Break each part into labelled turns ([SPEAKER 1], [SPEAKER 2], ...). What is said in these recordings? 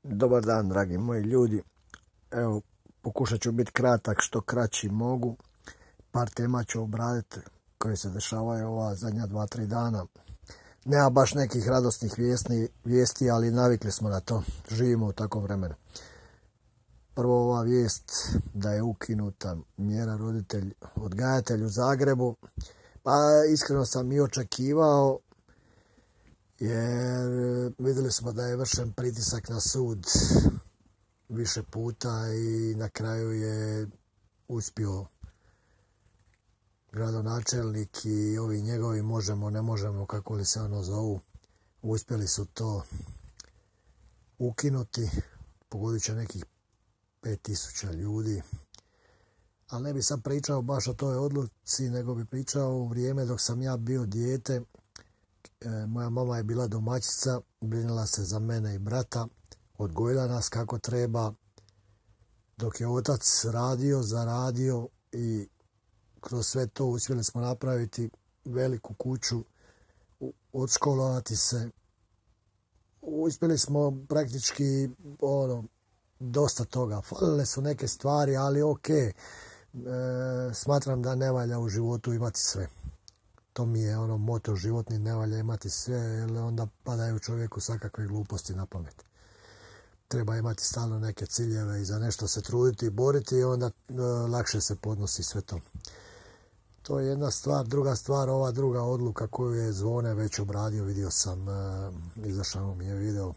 [SPEAKER 1] Dobar dan, dragi moji ljudi. Evo, pokušat ću biti kratak, što kraći mogu. Par tema ću obraditi koje se dešavaju ova zadnja 2-3 dana. Nema baš nekih radosnih vijesti, ali navikli smo na to. Živimo u takvom vremenu. Prvo ova vijest da je ukinuta mjera roditelj odgajatelj u Zagrebu. Pa iskreno sam i očekivao, jer vidjeli smo da je vršen pritisak na sud više puta i na kraju je uspio gradonačelnik i ovi njegovi možemo, ne možemo, kako li se ono zovu, uspjeli su to ukinuti. Pogodit će nekih 5000 ljudi. Ali ne bi sad pričao baš o toj odluci, nego bi pričao u vrijeme dok sam ja bio dijete. Moja mama je bila domaćica, brinula se za mene i brata, odgojila nas kako treba, dok je otac radio, zaradio i kroz sve to uspjeli smo napraviti veliku kuću, odškolovati se. Uspjeli smo praktički dosta toga. Falile su neke stvari, ali ok. Smatram da ne valja u životu imati sve. To mi je moto životni, ne valja imati sve, jer onda padaju čovjeku svakakve gluposti na pamet. Treba imati stalno neke ciljeve i za nešto se truditi i boriti i onda lakše se podnosi sve to. To je jedna stvar. Druga stvar, ova druga odluka koju je Zvone već obradio, vidio sam, izašao mi je video.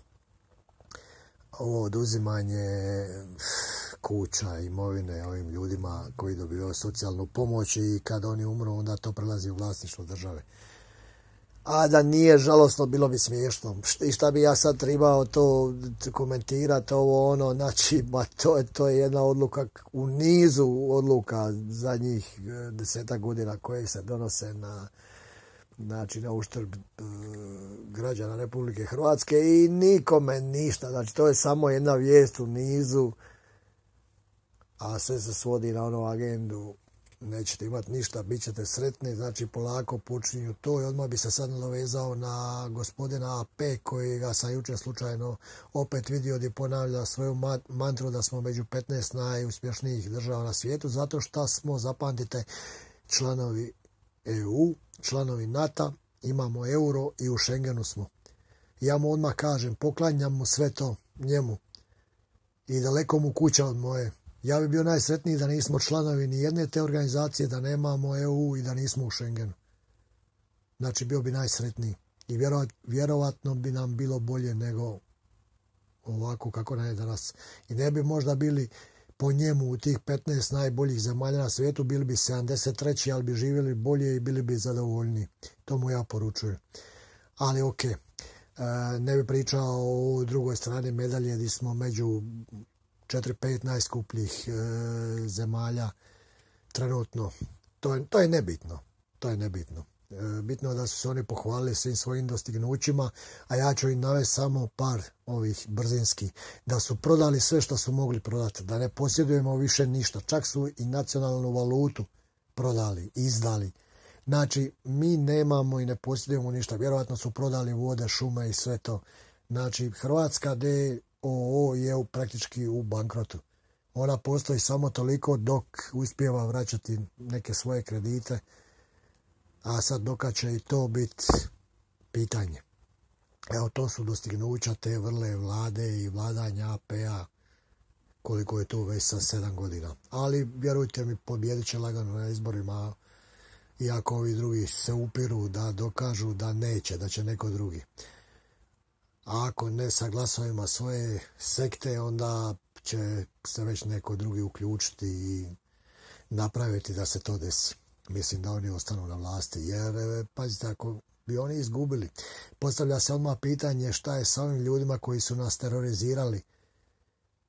[SPEAKER 1] Ovo oduzimanje kuća, imovine ovim ljudima koji dobivaju socijalnu pomoć i kad oni umru onda to prelazi u vlasništvo države. A da nije žalosno, bilo bi smiješno. I šta bi ja sad trebao to komentirati, znači, to je jedna odluka u nizu odluka zadnjih 10 godina koje se donose na uštrb građana Republike Hrvatske i nikome ništa. Znači, to je samo jedna vijest u nizu, a sve se svodi na agendu. Nećete imati ništa, bit ćete sretni, znači polako počinju to. I odmah bi se sad nadovezao na gospodina AP, kojega sam jučer slučajno opet vidio gdje ponavlja svoju mantru da smo među 15 najuspješnijih država na svijetu, zato što smo, zapamtite, članovi EU, članovi NATO, imamo euro i u Schengenu smo. Ja mu odmah kažem, poklanjam mu sve to njemu i daleko mu kuća od moje. Ja bi bio najsretniji da nismo članovi ni jedne te organizacije, da nemamo EU i da nismo u Schengenu. Znači, bio bi najsretniji. I vjerovatno bi nam bilo bolje nego ovako kako nam je danas. I ne bi možda bili po njemu u tih 15 najboljih zemalja na svijetu, bili bi 73. ali bi živjeli bolje i bili bi zadovoljni. To mu ja poručujem. Ali ok, ne bi pričao o drugoj strani medalje gdje smo među 4-5 najskupljih zemalja trenutno. To je nebitno. To je nebitno. Bitno je da su se oni pohvalili svim svojim dostignućima, a ja ću im navesti samo par ovih brzinskih. Da su prodali sve što su mogli prodati, da ne posjedujemo više ništa. Čak su i nacionalnu valutu prodali, izdali. Znači, mi nemamo i ne posjedujemo ništa. Vjerojatno su prodali vode, šume i sve to. Znači, Hrvatska d.o.o. je praktički u bankrotu. Ona postoji samo toliko dok uspijeva vraćati neke svoje kredite, a sad dok će i to biti pitanje. Evo, to su dostignuća te vrle vlade i vladanja AP-a, koliko je to već sa 7 godina. Ali vjerujte mi, pobjedit će lagano na izborima, iako ovi drugi se upiru da dokažu da neće, da će neko drugi. A ako ne sa glasovima svoje sekte, onda će se već neko drugi uključiti i napraviti da se to desi. Mislim da oni ostanu na vlasti, jer pazite, ako bi oni izgubili, postavlja se odmah pitanje šta je sa ovim ljudima koji su nas terorizirali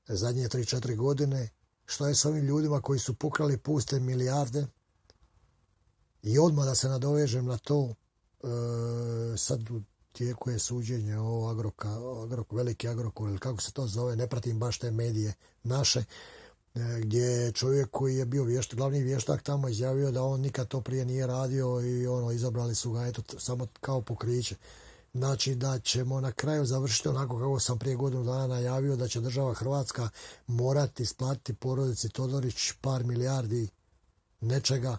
[SPEAKER 1] zadnje 3-4 godine, šta je sa ovim ljudima koji su pokrali puste milijarde. I odmah da se nadovežem na to, sad u tijeku je suđenje o veliki Agrokor, ili kako se to zove, ne pratim baš te medije naše, gdje je čovjek koji je bio glavni vještak tamo izjavio da on nikad to prije nije radio i izabrali su ga samo kao pokriće. Znači da ćemo na kraju završiti onako kako sam prije godinu dana najavio, da će država Hrvatska morati isplatiti porodici Todorić par milijardi nečega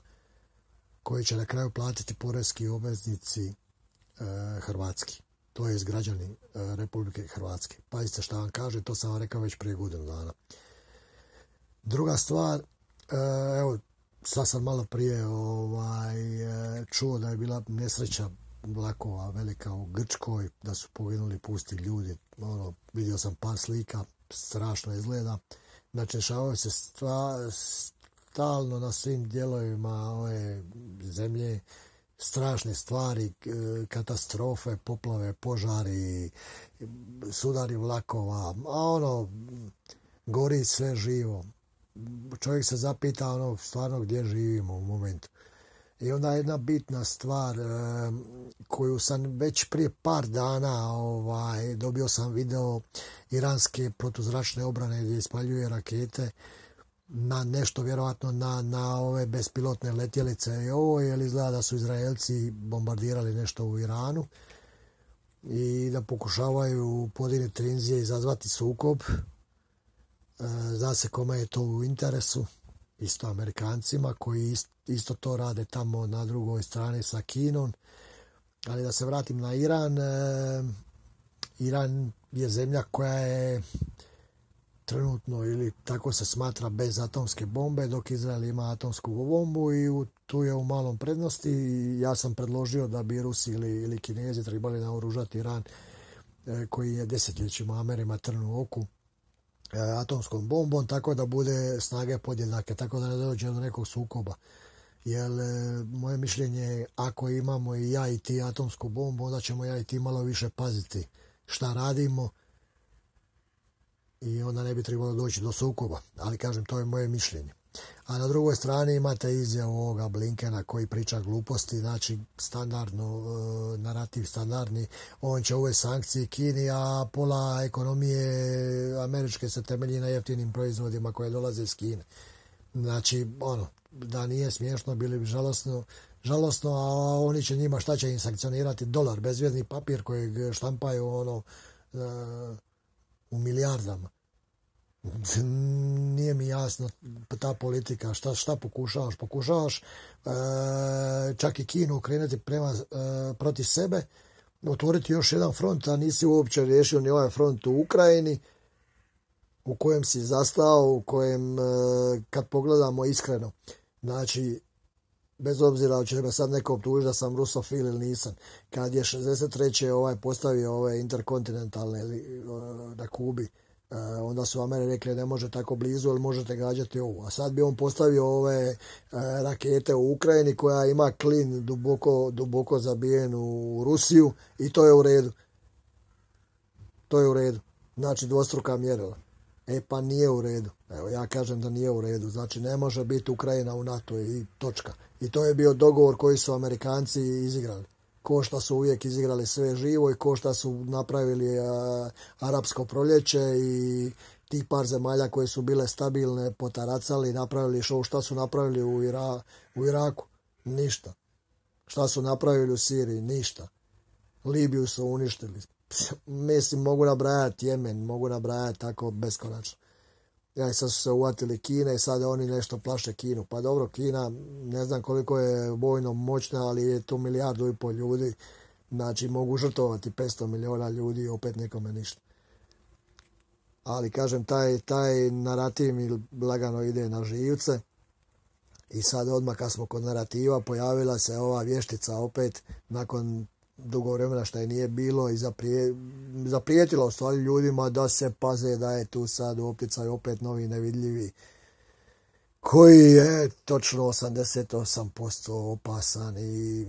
[SPEAKER 1] koji će na kraju platiti poreski obveznici hrvatski, to je građani Republike Hrvatske. Pazite šta vam kaže, to sam vam rekao već prije godinu dana. Druga stvar, evo, sad sam malo prije čuo da je bila nesreća vlakova velika u Grčkoj, da su poginuli pusti ljudi. Vidio sam par slika, strašno izgleda. Znači, dešavaju se stalno na svim dijelovima ove zemlje strašne stvari, katastrofe, poplave, požari, sudari vlakova, a gori sve živo. Čovjek se zapita stvarno gdje živimo u momentu. I onda jedna bitna stvar koju sam već prije par dana dobio sam video iranske protuzračne obrane gdje ispaljuje rakete na nešto, vjerojatno na ove bespilotne letjelice i ovo, jer izgleda da su Izraelci bombardirali nešto u Iranu i da pokušavaju podignuti tenzije i izazvati sukob. Zna se kome je to u interesu, isto Amerikancima koji isto to rade tamo na drugoj strani sa Kinom. Ali da se vratim na Iran, Iran je zemlja koja je trenutno, ili tako se smatra, bez atomske bombe, dok Izrael ima atomsku bombu i tu je u malom prednosti. Ja sam predložio da bi Rusi ili Kinezi trebali naoružati Iran, koji je desetljećima Amerima trn u oku, atomskom bombom, tako da bude snage podjednake, tako da ne dođe do nekog sukoba. Jer moje mišljenje je, ako imamo i ja i ti atomsku bombu, onda ćemo ja i ti malo više paziti šta radimo i onda ne bi trebalo doći do sukoba. Ali kažem, to je moje mišljenje. A na drugoj strani imate izjavu ovoga Blinkena koji priča gluposti, znači standardno, narativ standardni, on će uvesti sankcije Kini, a pola ekonomije američke se temelji na jeftinim proizvodima koje dolaze iz Kine. Znači, da nije smiješno, bili bi žalosno, a oni će njima, šta će im sankcionirati? Dolar, bezvrijedni papir kojeg štampaju u milijardama. Nije mi jasno ta politika, šta pokušavaš? Pokušavaš čak i Kinu krenuti protiv sebe, otvoriti još jedan front, a nisi uopće riješio ni ovaj front u Ukrajini, u kojem si zastao, u kojem, kad pogledamo iskreno, znači, bez obzira hoće me sad neko optužiti da sam rusofil ili nisam, kad je 63. postavio ove interkontinentalne na Kubi, onda su Ameri rekli ne može tako blizu, ali možete gađati ovu. A sad bi on postavio ove rakete u Ukrajini koja ima klin duboko zabijen u Rusiju i to je u redu. To je u redu. Znači dvostruka mjerila. Pa nije u redu. Evo, ja kažem da nije u redu. Znači ne može biti Ukrajina u NATO i točka. I to je bio dogovor koji su Amerikanci izigrali. Ko šta su uvijek izigrali sve živo i ko šta su napravili arapsko proljeće i tih par zemalja koje su bile stabilne potaracali, napravili šta su napravili u Iraku? Ništa. Šta su napravili u Siriji? Ništa. Libiju su uništili. Mislim, mogu nabrajati Jemen, mogu nabrajati tako beskonačno. Sad su se uvatili Kine i sada oni nešto plaše Kinu. Pa dobro, Kina ne znam koliko je vojno moćna, ali je to 1,5 milijardu ljudi. Znači mogu žrtvovati 500 miliona ljudi i opet nikome ništa. Ali kažem, taj narativ mi lagano ide na živce. I sad odmah kad smo kod narativa pojavila se ova vještica opet nakon dugo vremena što je nije bilo i zaprijetila u stvari ljudima da se paze da je tu sad u opticaju opet novi nevidljivi koji je točno 88% opasan i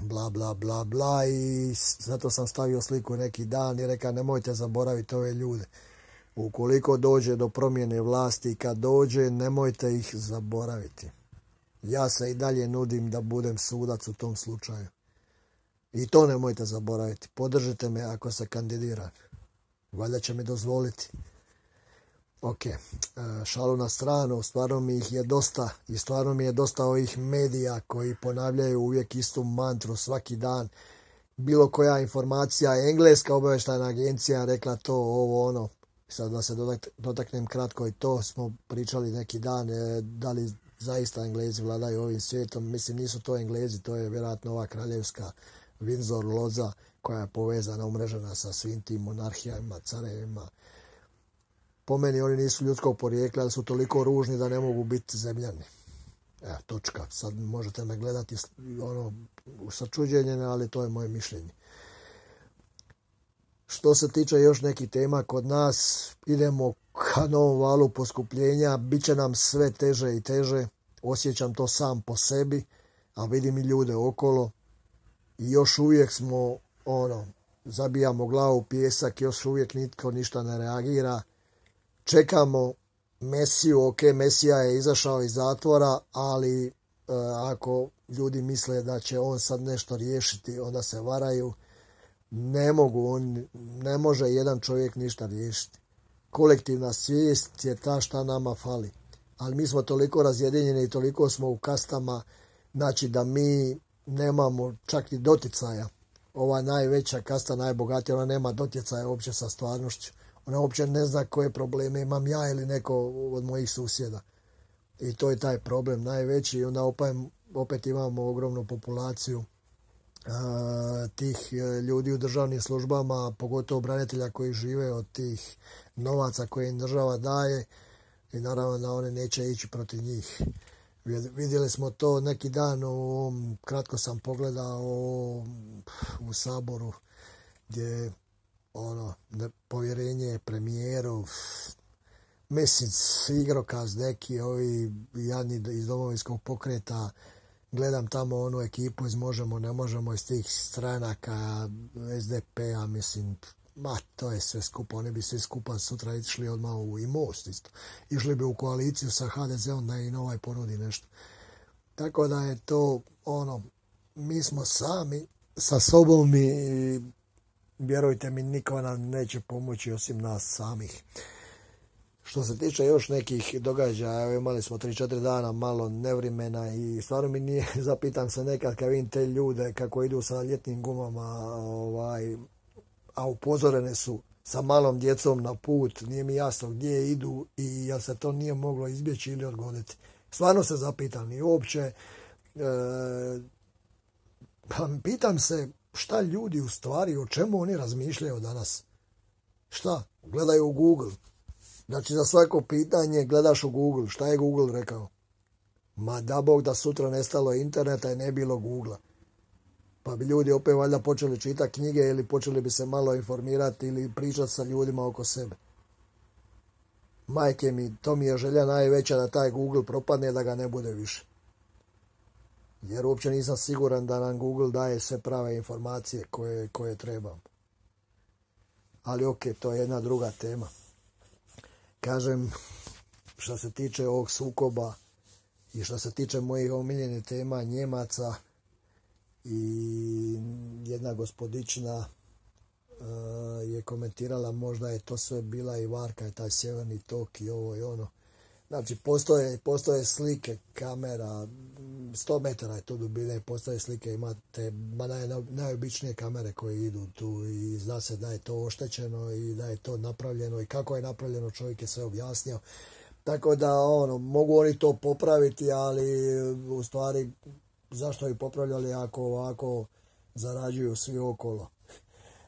[SPEAKER 1] bla bla bla bla i zato sam stavio sliku neki dan i rekao nemojte zaboraviti ove ljude. Ukoliko dođe do promjene vlasti, kad dođe, nemojte ih zaboraviti. Ja se i dalje nudim da budem sudac u tom slučaju. I to nemojte zaboraviti. Podržite me ako se kandidiram. Valjda će mi dozvoliti. Ok, šalu na stranu, stvarno mi ih je dosta i stvarno mi je dosta ovih medija koji ponavljaju uvijek istu mantru svaki dan bilo koja informacija, engleska obavještajna agencija rekla to, ovo, ono. Sad da se dotaknem kratko i to, smo pričali neki dan, da li zaista Englezi vladaju ovim svijetom. Mislim, nisu to Englezi, to je vjerojatno ova kraljevska Windsor loza koja je povezana, umrežena sa svim tim monarhijama, carevima. Po meni oni nisu ljudskog porijekla, ali su toliko ružni da ne mogu biti zemljani. Evo, točka. Sad možete me gledati sa čuđenjem, ali to je moje mišljenje. Što se tiče još nekih tema kod nas, idemo ka novom valu poskupljenja, bit će nam sve teže i teže, osjećam to sam po sebi, a vidim i ljude okolo i još uvijek smo, zabijamo glavu u pijesak, još uvijek nitko ništa ne reagira, čekamo Mesiju, ok, Mesija je izašao iz zatvora, ali ako ljudi misle da će on sad nešto riješiti, onda se varaju. Ne može jedan čovjek ništa riješiti. Kolektivna svijest je ta šta nama fali. Ali mi smo toliko razjedinjeni i toliko smo u kastama, znači da mi nemamo čak ni doticaja. Ova najveća kasta, najbogatija, ona nema doticaja uopće sa stvarnošću. Ona uopće ne zna koje probleme imam ja ili neko od mojih susjeda. I to je taj problem najveći. I onda opet imamo ogromnu populaciju tih ljudi u državnim službama, pogotovo branitelja koji žive od tih novaca koje im država daje i naravno da oni neće ići protiv njih. Vidjeli smo to neki dan, kratko sam pogledao u Saboru gdje povjerenje premijeru, mislim, igrokaz neki, ovi jadni iz Domovinskog pokreta. Gledam tamo onu ekipu iz Možemo, ne možemo, iz tih stranaka SDP-a, mislim, to je sve skupa. Oni bi svi skupa sutra išli odmah i Most isto. Išli bi u koaliciju sa HDZ-om da im ovaj ponudi nešto. Tako da je to mi smo sami sa sobom i vjerujte mi, niko nam neće pomoći osim nas samih. Što se tiče još nekih događaja, imali smo 3-4 dana malo nevremena i stvarno mi nije, zapitam se nekad kad vidim te ljude kako idu sa ljetnim gumama, a upozorene su sa malom djecom na put, nije mi jasno gdje idu i jel se to nije moglo izbjeći ili odgoditi. Stvarno se zapitam i uopće, pitam se šta ljudi u stvari, o čemu oni razmišljaju danas. Šta? Gledaju u Google. Znači za svako pitanje gledaš u Google. Šta je Google rekao? Ma da Bog da sutra nestalo interneta i ne bilo Googlea. Pa bi ljudi opet valjda počeli čitati knjige ili počeli bi se malo informirati ili pričati sa ljudima oko sebe. Majke mi, to mi je želja najveća da taj Google propadne, da ga ne bude više. Jer uopće nisam siguran da nam Google daje sve prave informacije koje trebam. Ali ok, to je jedna druga tema. Kažem, što se tiče ovog sukoba i što se tiče mojih omiljenih tema Njemaca i jedna gospodična je komentirala možda je to sve bila i varka, je taj sjeverni tok i ovo i ono. Znači, postoje slike kamera, 100 metara je to dubine, postoje slike, imate najobičnije kamere koje idu tu i zna se da je to oštećeno i da je to napravljeno i kako je napravljeno, čovjek je sve objasnio. Tako da, mogu oni to popraviti, ali u stvari, zašto ih popravljali ako ovako zarađuju svi okolo?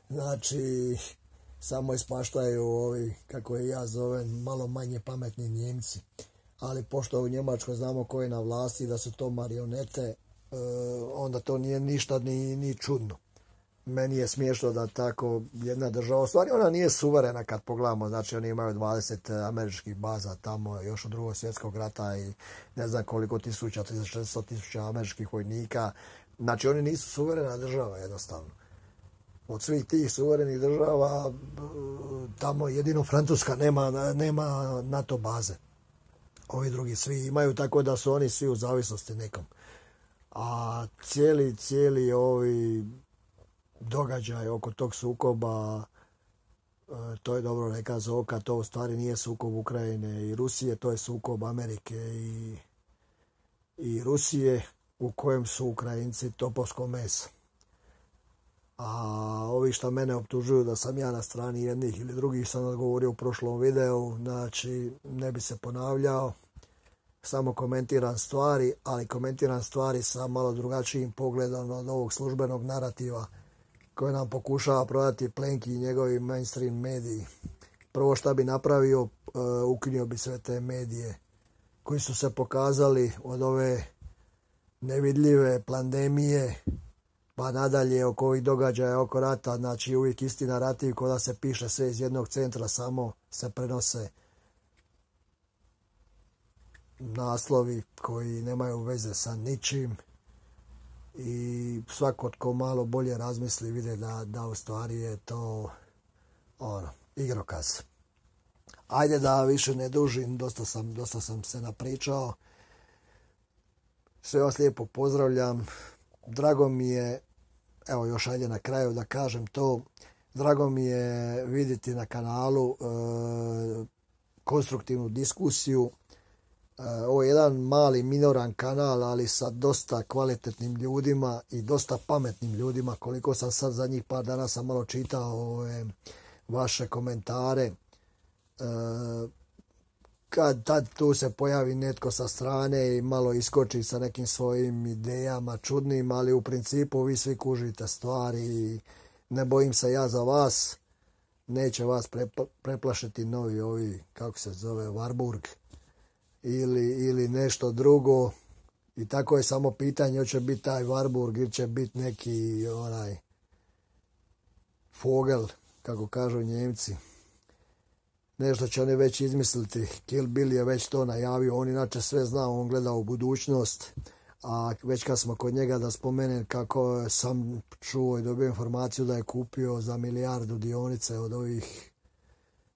[SPEAKER 1] Znači, samo ispaštaju ovi, kako je ja zovem, malo manje pametni Njemci. Ali pošto u Njemačkoj znamo ko je na vlasti, da su to marionete, onda to nije ništa ni čudno. Meni je smiješno da tako jedna država, u stvari ona nije suverena kad pogledamo, znači oni imaju 20 američkih baza tamo još od Drugog svjetskog rata i ne znam koliko tisuća, 400.000 američkih vojnika. Znači oni nisu suverena država jednostavno. Od svih tih suverenih država tamo jedino Francuska nema NATO baze. Ovi drugi svi imaju, tako da su oni svi u zavisnosti nekom. A cijeli ovi događaj oko tog sukoba, to je dobro rekao Zoka, to u stvari nije sukob Ukrajine i Rusije, to je sukob Amerike i Rusije u kojem su Ukrajinci topovsko meso. A ovi što mene optužuju da sam ja na strani jednih ili drugih sam odgovorio u prošlom videu, znači ne bi se ponavljao, samo komentiram stvari, ali komentiram stvari sa malo drugačijim pogledom od ovog službenog narativa koje nam pokušava prodati Plenki i njegovi mainstream mediji. Prvo što bi napravio, ukinuo bi sve te medije koji su se pokazali od ove nevidljive pandemije pa nadalje oko ovih događaja oko rata, znači uvijek isti narativ ko da se piše sve iz jednog centra, samo se prenose naslovi koji nemaju veze sa ničim i svako tko malo bolje razmisli vide da u stvari je to igrokaz. Ajde da više ne dužim, dosta sam se napričao. Sve vas lijepo pozdravljam. Drago mi je, evo još ajde na kraju da kažem to, drago mi je vidjeti na kanalu konstruktivnu diskusiju. Ovo je jedan mali minoran kanal, ali sa dosta kvalitetnim ljudima i dosta pametnim ljudima. Koliko sam sad zadnjih par dana sam malo čitao vaše komentare. Kad tad tu se pojavi netko sa strane i malo iskoči sa nekim svojim idejama čudnim, ali u principu vi svi kužite stvari i ne bojim se ja za vas. Neće vas preplašiti novi ovi, kako se zove, Warburg ili nešto drugo. I tako je samo pitanje, hoće biti taj Warburg ili će biti neki onaj Vogel, kako kažu Njemci. Nešto će oni već izmisliti. Kill Bill je već to najavio. On inače sve zna, on gleda u budućnost. A već kad smo kod njega da spomenem kako sam čuo i dobio informaciju da je kupio za 1 milijardu dionice od ovih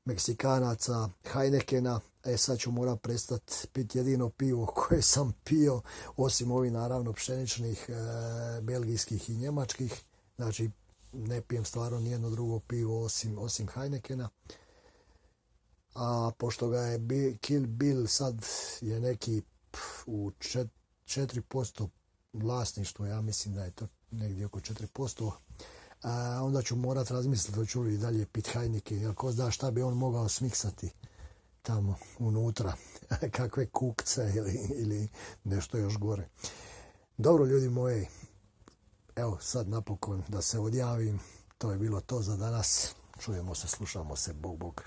[SPEAKER 1] Meksikanaca Heinekena. Sad ću morat prestati piti jedino pivo koje sam pio, osim ovih naravno pšeničnih, belgijskih i njemačkih. Znači ne pijem stvarno nijedno drugo pivo osim Heinekena. A pošto ga je Kill Bill sad je neki u 4% vlasništvo, ja mislim da je to negdje oko 4%, onda ću morat razmisliti hoću li dalje pit Heineken, jer ko zna šta bi on mogao smiksati tamo unutra, kakve kukce ili nešto još gore. Dobro ljudi moji, evo sad napokon da se odjavim, to je bilo to za danas, čujemo se, slušamo se, bog bog.